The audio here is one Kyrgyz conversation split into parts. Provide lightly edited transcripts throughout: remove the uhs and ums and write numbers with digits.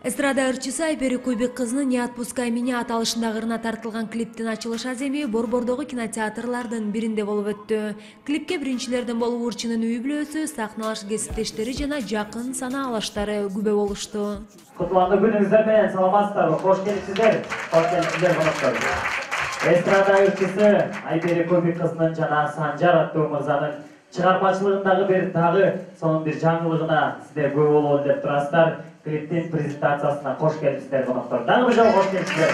Эстрада ырчысы Айпери Куйбек кызынын «Не отпускай меня» аталышындагы ырына тартылган клиптин ачылыш аземи Борбордогу кинотеатрлардын биринде болуп өттү. Клипке биринчилерден болуп ырчынын үй бүлөсү, сахналаш кесиптештери жана жакын санаалаштары күбө болушту. Кутлуктуу күнүңүздөр менен саламатсыздарбы? Кош келипсиздер. Кош келипсиздер коноктор. Эстрада ырчысы Айпери Куйбек кызынын жана Санжар аттуу мырзанын чыгармачылыгындагы дагы сонун бир жаңылыгына сиздер күбө болобу деп турасыздар. Клиптин презентациясына кош келипсиздер коноктор. Дагы бир жолу кош келипсиздер.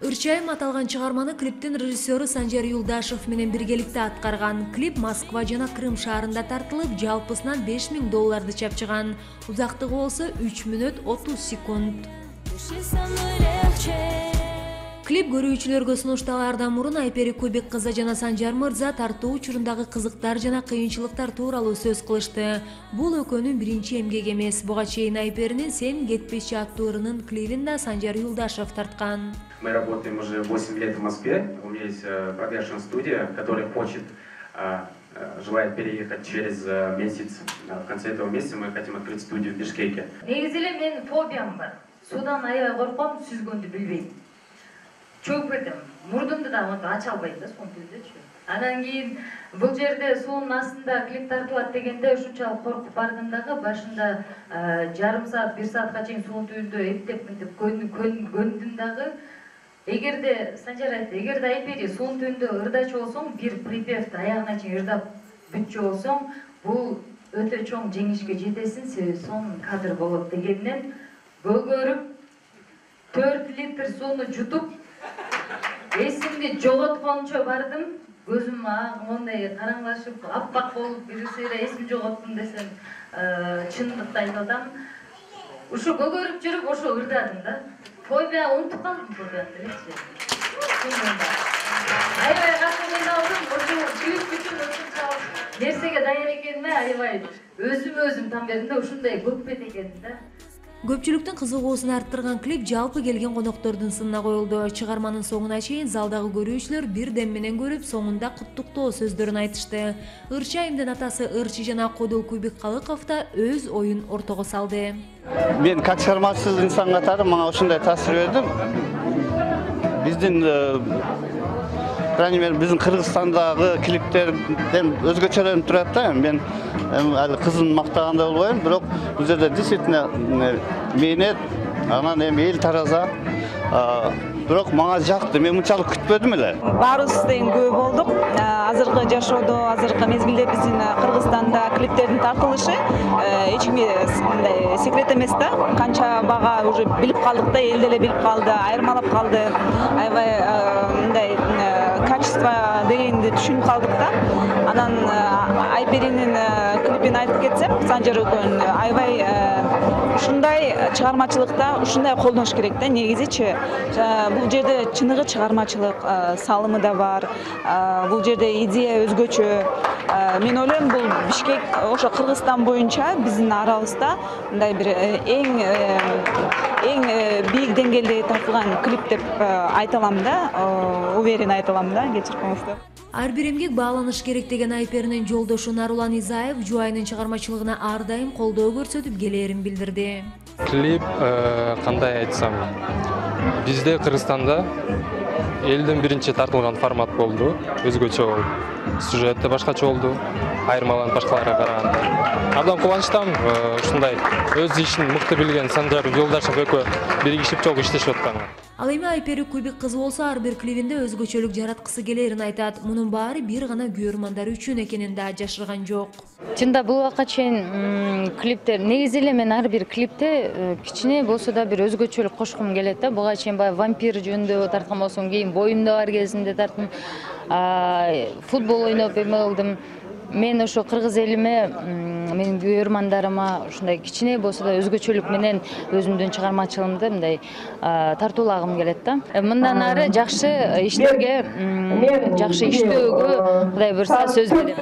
Ырчайым аталган чыгарманы клиптин режиссеру Санжар Юлдашев менен биргеликте аткарган. Клип Москва жана Крым шаарында тартылып, жалпысынан $5000 чапчыган. Узактыгы болсо 3 мүнөт 30 секунд. Клип көрүүчүлөргө сунушталаардан мурун Айпери Куйбек кызы жана Санжар мырза тартуу учурундагы кызыктар жана кыйынчылыктар тууралуу сөз кылышты. Бул экөөнүн биринчи эмгеги эмес. Буга чейин Айперинин «Сен кетпеши» аттуу ырынын клибин да Санжар Юлдашев тарткан. Мы работаем уже 8 лет в Москве. У меня есть продакшн-студия, которая желает переехать через месяц. В конце этого месяца мы хотим открыть студию в Бишкеке. Негизи эле менин фобиям бар. Судан аябай корком, сүзгөндү билбейм. Чөгүп кетем. Мурдумду да ача албайм да сонун түрдөчү. Анан кийин бул жерде суунун астында клип тартылат дегенде ушунчалык коркуп бардым дагы. Башында жарым саат, 1 саатка чейин суунун түбүндө эптеп мынтип көндүм дагы. Эгерде Санжар айтты, эгерде Айпери суунун түбүндө ырдачу болсоң, бир припевди аягына чейин ырдап бүтчү болсоң, бул өтө чоң жеңишке жетесиң, себеби сонун кадр болот дегенден көгөрүп 4 литр сууну жутуп эсимди жоготкончо бардым. Көзүм мондай караңгылашып, аппак болуп, бирсире эсим жоготтум десем, чындыкты айтып атам. Ушу көгөрүп жүрүп, ошо ырдадым да. Фобия унутуп калдым фобияны элечи. Аябай катуу кыйналдым, ошо клип үчүн ушунчалык нерсеге даяр экениме аябай өзүм там бердим да, ушундай көкпет экенин да. Көпчүлүктүн кызыгуусун арттырган клип жалпы келген коноктордун сынына коюлду. Чыгарманын соңуна чейин залдагы көрүүчүлөр бир дем менен көрүп, соңунда куттуктоо сөздөрүн айтышты. Ырчайымдын атасы Ырчы жана Кодул Куйбеккалыков да өз оюн ортого салды. Мен как чыгармачыл инсан катары мага ушундай таасир берди. Биздин биздин Кыргызстандагы клиптерден өзгөчөлөнүп турат да. Мен али кызын мактагандай болбойм, бирок бул жерде действительно мээнет, анан эми эл тараза. Бирок мага жакты, мен мынчалык күтпөдүм эле. Баарыбыз тең күбө болдук. Азыркы жашоодо, азыркы мезгилде биздин Кыргызстанда клиптердин тартылышы эч кимге мындай секрет эмес да. Канча бага уже билип калдык да, эл деле билип калды, айырмалап калды. Аябай мындай качество дегенди түшүнүп калдык да. Анан Айперинин клипин айтып кетсем, Санжар экөөнүн аябай ушундай чыгармачылыкта ушундай колдоnuш керек да. Негизичи бул жерде чыныгы чыгармачылык салымы да бар. Бул жерде идея өзгөчө. Мен ойлойм, бул Бишкек, ошо Кыргызстан боюнча биздин арабызда мындай бир эң бийик деңгээлде тартылган клип деп айта алам да. Уверен айта алам да, кечирип коңуздар. Ар бир эмгек бааланыш керек деген Айперинин жолдошу Нарулан Изаев жубайынын чыгармачылыгына ар дайым колдоо көрсөтүп келээрин билдирди. Клип кандай айтсам, бизде Кыргызстанда элдин биринчи тартылган формат болду, өзгөчө болду. Сюжет да башкача болду, айырмаланып башкаларга караганда. Абдан кубанычтамын, ушундай өз ишин мыкты билген Санжар Юлдашев экөө биригишип чогуу иштешип атканга. Ал эми Айпери Куйбек кызы болсо ар бир клибинде өзгөчөлүк жараткысы келерин айтат. Мунун баары бир гана көрөрмандар үчүн экенин да жашырган жок. Чында бул убакка чейин клиптер, негизи эле мен ар бир клипте кичине болсо да бир өзгөчөлүк кошкум келет да. Буга чейин баягы вампир жөнүндө тарткан болсом, кийин боюмда бар кезинде тарттым. Футбол ойноп эме кылдым. Мен ошо кыргыз элиме, менин көрөрмандарыма ушундай кичине болсо да өзгөчөлүк менен өзүмдүн чыгармачылыгымды мындай тартуулагым келет да. Мындан ары жакшы иштерге, жакшы иштөөгө Кудай буйрса сөз берем.